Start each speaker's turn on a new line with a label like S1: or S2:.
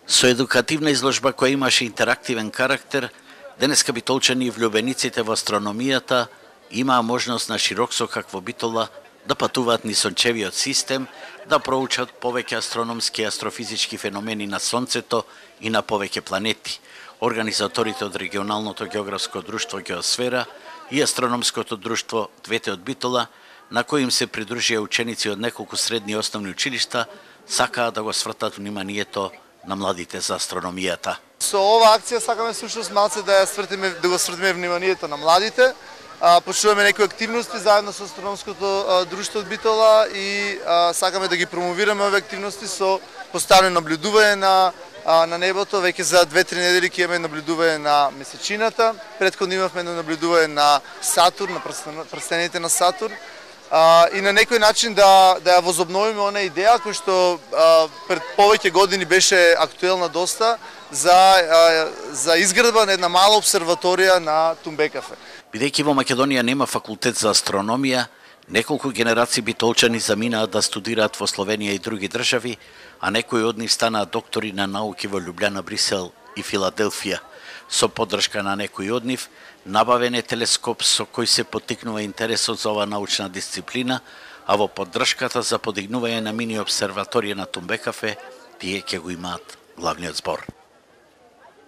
S1: Со едукативна изложба која имаше интерактивен карактер, денеска битолчани и влюбениците во астрономијата имаа можност на широк сокак во Битола да патуваат низ сончевиот систем, да проучат повеќе астрономски и астрофизички феномени на Сонцето и на повеќе планети. Организаторите од регионалното географско друштво Геосфера и астрономското друштво двете од Битола, на кои им се придружија ученици од неколку средни и основни училишта, сакаа да го свртат вниманието на младите за астрономијата.
S2: Со ова акција сакаме всушност малце да го свртиме вниманието на младите. Почнуваме некои активности заедно со астрономското друштво од Битола и сакаме да ги промовираме овие активности со постојано наблюдување на небото. Веќе за 2-3 недели ќе имаме наблюдување на месечината. Претходно имавме наблюдување на Сатурн, на прстените на Сатурн. И на некој начин да ја возобновиме она идеја која што пред повеќе години беше актуелна доста за изградба на една мала обсерваторија на Тумбекафе.
S1: Бидејќи во Македонија нема факултет за астрономија, неколку генерации битолчани заминаа да студираат во Словенија и други држави, а некои од нив станаа доктори на науки во Љубљана, Брисел и Филаделфија. Со поддршка на некои од нив, набавен е телескоп со кој се поттикнува интересот за оваа научна дисциплина, а во поддршката за подигнување на мини обсерваторија на Тумбекафе, тие ќе го имаат главниот збор.